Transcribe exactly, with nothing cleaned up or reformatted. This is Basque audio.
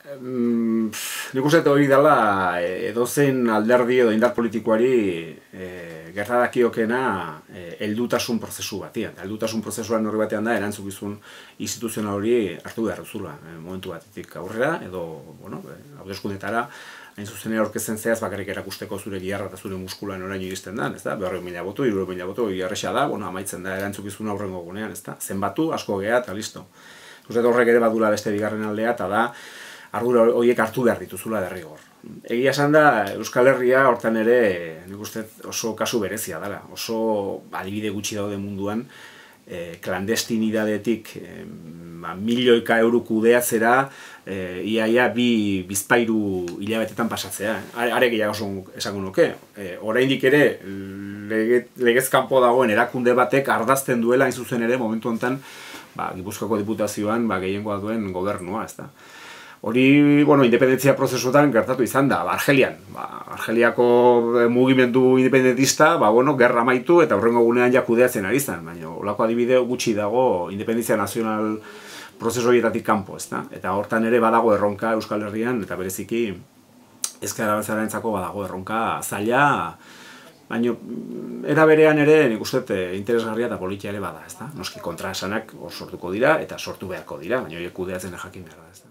Nik uste hori dela edozein alderdi edo indar politikoari gerta dakiokena heldutasun prozesu batean. Heldutasun prozesuan horri batean da erantzukizun instituzional hori hartu behar duzula momentu batetik aurrera edo hauteskundetara hain zuzenera aurkezten zeaz bakarrik erakusteko zure giharra eta zure muskula noraino iristen da, ezta? berrehun mila boto, hirurehun mila boto, erraza da, bueno, amaitzen da erantzukizuna aurrengo egunean, ezta? Zenbatu, asko gea eta listo. Uste horrek ere badula beste bigarren aldea eta da ardura horiek hartu behar dituzula derrigor. Egia esan da, Euskal Herria hortan ere nik uste oso kasu berezia dela. Oso adibide gutxi daude munduan, klandestinidadetik milioika euro kudeatzera iaia bi bizpairu hilabetetan pasatzea. Are gehiago oso esango nuke. Oraindik ere legez kanpo dagoen erakunde batek ardazten duela hain zuzen ere momentu honetan Gipuzkoako diputazioan gehiengoa duen gobernua, ezta. Hori, bueno, independentzia prozesuetan gertatu izan da, Argelian. Argeliako mugimendu independentista, bueno, gerra amaitu eta hurrengo gunean ja kudeatzen ari zen, baina holako adibide gutxi dago independentzia nazional prozesu horietatik kanpo, ezta? Eta hortan ere badago erronka Euskal Herrian, eta bereziki ezker abertzalearentzako badago erronka zaila, baina era berean ere nik uste interesgarria eta politia ere bada, ezta? Noski kontraesanak hor sortuko dira eta sortu beharko dira, baina horiek kudeatzen jakin behar da, ezta?